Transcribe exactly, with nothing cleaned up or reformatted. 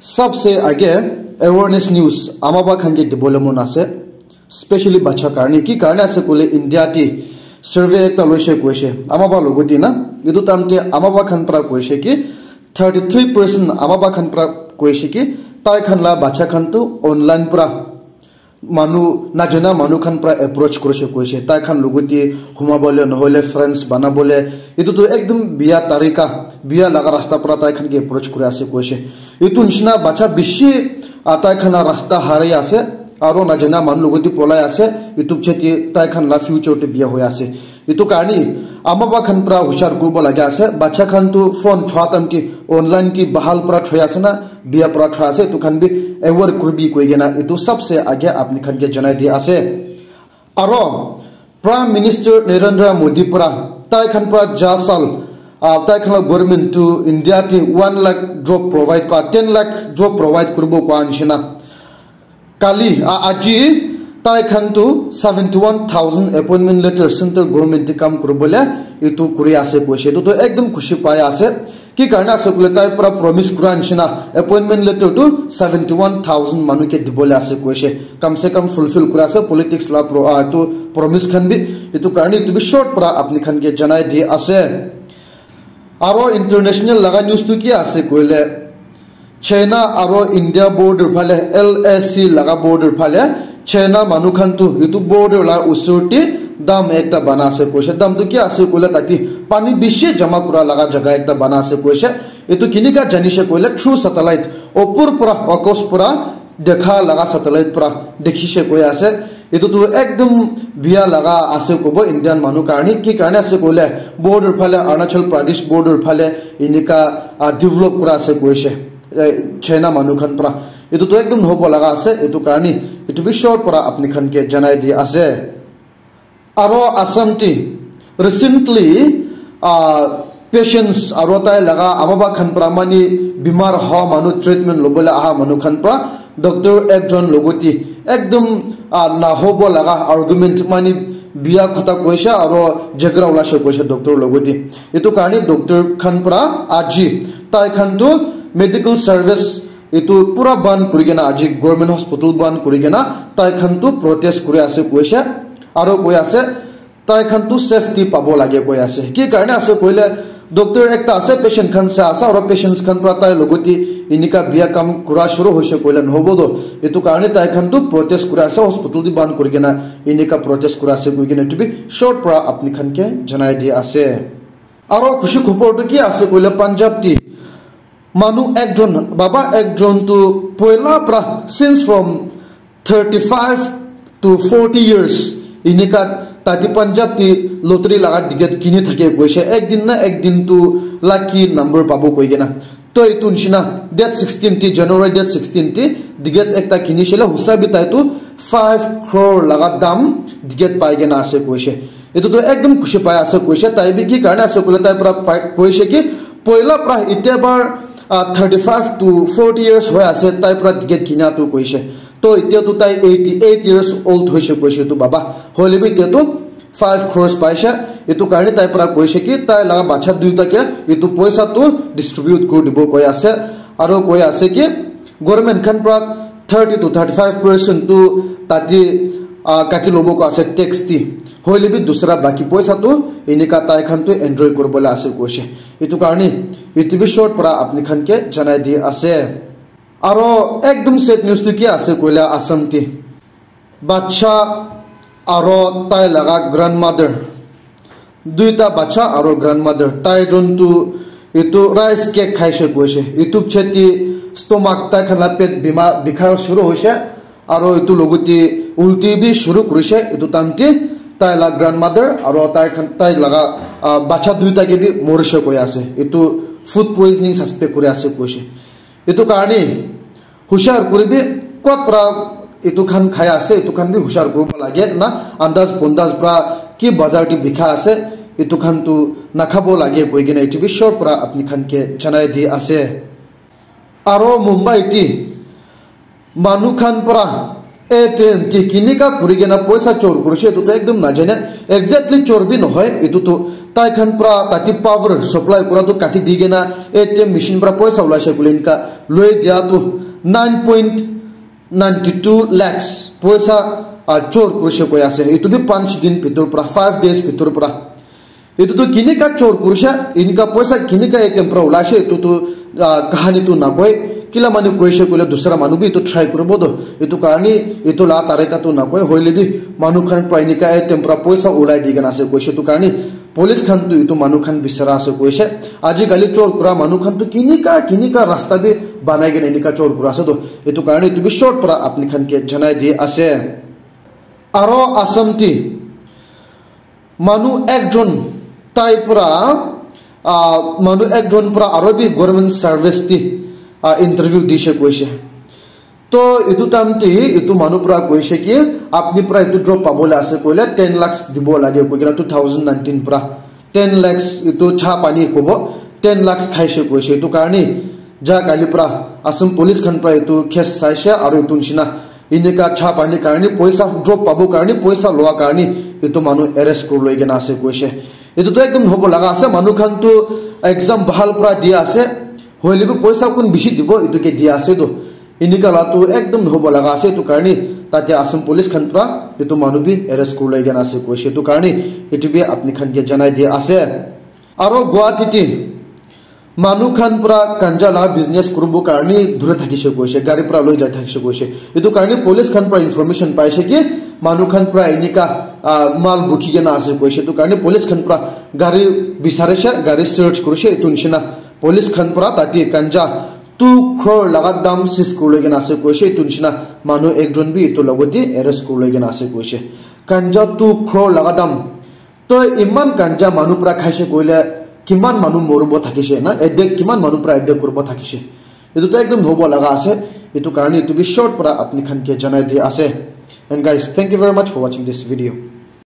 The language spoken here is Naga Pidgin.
Sabse age awareness news ama ba khan ke dibole mon ase, specially bacha karne. Ki karne ase koile India ti survey ekta loise koise ama ba logo ti na, etu time te ama ba khan pra koise ki thirty three percent ama ba khan pra koise ki tai khan la bacha khan tu online pra manu najana manu khan pra approach kurise koise, tai khan logo ti humabole nohole friends banabole, etu tu ekdum biya tarika, biya laga rasta pra tai khan ke approach kuri ase koise. Etu nishina bacha bishi, ah, tai khan la rasta harai ase, aro najana manu logo ti polai ase, etu cheti tai khan la future te biya hoi ase. Etu karne ama ba khan pra hushar kuribo lage ase, bacha khan tu phone chua time ti online ti bahal pra thoi ase na, biya pra thoi ase, etu khan bi aware kuribi koi kena etu sabse age apni khan ke janai di ase. Aro Prime Minister Narendra Modi pra tai khan pra ja sal, ah, tai khan la government tu India ti one lakh job provide kura, ten lakh job provide kuribo kua nishina. Kali, a, aji tai khan tu seventy one thousand appointment letter central government ti kam kuribole etu kuri ase koise. Etu tu ekdum khushi pai ase. Ki karne ase koile tai pra promise kura nishina appointment letter tu seventy one thousand manu ke dibole ase koise. Kam se kam fulfill kura ase, politics la pro, ah, tu promise khan bi. Etu karne etu bi short pra apni khan ke janai di ase. Aro international laga news tu ki ase koile, China aro India border phale, L A C laga border phale, China manu khan tu etu border la usor te dam ekta bana ase koise. Dam tu ki ase koile tate pani bishi jama kura laga jaga ekta bana ase koise. Etu kinika janise koile through satellite, opor pra, akos pra dekha laga satellite pra dekhise koi ase. Etu tu ekdum biya laga ase kobo Indian manu karne. Ki karne ase koile border phale, Arunachal Pradesh border phale enika, ah, develop kura ase koise, eh, China manu khan pra. Etu tu ekdum hobo laga ase, etu karne etu bi short pra apni khan ke janai di ase. Aro Assam ti recently, ah, patients aro tai laga ama ba khan pra mani bimar hoa manu treatment lobole aha manu khan pra doctor ekjon logo ti ekdum, ah, nahobo laga argument mani biya khota koise aro jhagara ulaise koise doctor logo ti. Etu karne doctor khan pra aji tai khan tu medical service etu pura ban kuri kena aji government hospital ban kuri kena tai khan tu protest kuri ase koise aro koi ase tai khan tu safety pabo lage koi ase. Ki karne ase koile doctor ekta ase, patient khan sa ase, aro patients khan pra tai logo ti enika biya kam kura shuru hoise koile nohobo do. Etu karne tai khan tu protest kuri ase, hospital ti ban kuri kena enika protest kuri ase koi kena etu bi short pra apni khan ke janai di ase. Aro khushi khobor tu ki ase koile Punjab ti manu ekjon, baba ekjon tu poila pra, since from thirty five to forty years, enika tate Punjab ti lottery laga ticket kini thake koise. Ek din na ek din tu lucky number pabo koi kena. To etu nishina date sixteen ti, January date sixteen ti ticket ekta kini shile, husa bi tai tu five crore laga dam ticket pai kena ase koise. Etu tu ekdum khushi pai ase koise. Tai bi ki karne ase koile tai pra pai, koise ki poila pra itya bar, ah, thirty five to forty years hoi ase tai pra ticket kina tu koise. To itya tu tai eighty eight years old hoise koise tu baba. Hoile bi itya tu five crores paise. Etu karne tai pra koise ki tai laga bacha duita ke etu poisa tu distribute kuri dibo koi ase. Aro koi ase ki government khan pra thirty to thirty five percent tu tate, ah, kati lobo ko ase tax ti. Hoile bi dusra baki poisa tu enika tai khan tu enjoy kuribole ase koise. Etu karne etu bi short pra apni khan ke janai di ase. Aro ekdum sad news tu ki ase koile Assam ti bacha aro tai laga grandmother, duita bacha aro grandmother, tai jon tu etu rice cake khaise koise. Etu cheti stomach tai khan la pet bima bikha shuru hoise, aro etu logote ulti bi shuru kurise. Etu time te tai la grandmother aro tai khan, tai laga, ah, bacha duita ke bi morise koi ase. Etu food poisoning suspect kuri ase koise. Etu karne hushar kuribi, kot pra etu khan khai ase, etu khan bi hushar kuribo lage na, andaz pondaz pra ki bazar te bikha ase, etu khan tu nakhabo lage koi kena etu bi short pra apni khan ke janai di ase. Aro Mumbai ti manu khan pra A T M ti kinika kuri kena poisa chor kurise, etu tu ekdum najane, exactly chor bi nohoi, etu tu Tai khan pra tati power supply kura tu kati di kena A T M machine pra poisa ulaise kule inka loi dia tu nine point nine two lakhs poisa, ah, chor kurise koi ase. Itu bi panch din bhitor pra, five days bhitor pra. Itu tu kinika chor kurise, inka poisa kinika A T M pra ulaise, itu tu, ah, kahani tu nakoi. Kila manu koise koile dusra manu bi itu try kuribo tu. Itu karni itu la tarika tu nakoi. Hoile bi manu khan pra inika A T M pra poisa ulai di kena ase koise. Itu karni police khan tu itu manu khan bisara ase koise. Aji kali chor kura manu khan tu kinika, kinika rasta bi banai kena inika chor kura ase tu. Itu karni itu bi short pra apni khan ke janai di ase. Aro Assam ti manu ekjon tai pra, ah, manu ekjon pra aro bi government service ti, ah, interview dise koise. To itu time ti itu manu pra koise ki apni pra itu job pabole ase koile ten lakhs dibo lage koi kena two thousand nineteen pra ten lakhs itu cha pani kobo ten lakhs khaise koise. Itu karni ja kali pra Assam police khan pra itu case saise aro itu nishina inika cha pani karni poisa job pabo karni poisa loa karni itu manu arrest kuri loi kena ase koise. Itu tu ekdom hobo laga ase, manu khan tu exam bhal pra dia ase, hoile bi poisa kun bishi dibo itu ke dia ase tu. Inika la tu ekdom hobo laga ase, itu karni tate Assam police khan pra itu manu bi arrest kuri loi kena ase koise. Itu karni itu bi apni khan ke janai dia ase. Aro Guwahati ti manu khan pra ganja la business kuribo karni dure thakise koise, gari pra loi jai thakise koise. Itu karni police khan pra information paise ki manu khan pra inika, ah, mal bukhi kena ase koise. Itu karni police khan pra gari bisarise, gari search kurise, itu nishina police khan pra tate ganja two crore laga dam seize kuri loi kena ase koise. Itu nishina manu ekjon bi itu logote arrest kuri loi kena ase koise. Ganja two crore laga dam. To iman ganja manu pra khaise koile kiman manu moribo thakise na, attack kiman manu pra attack kuribo thakise. Itu to ekdom hobo laga ase. Itu karni itu bi short pra apni khan ke janai di ase. And guys, thank you very much for watching this video.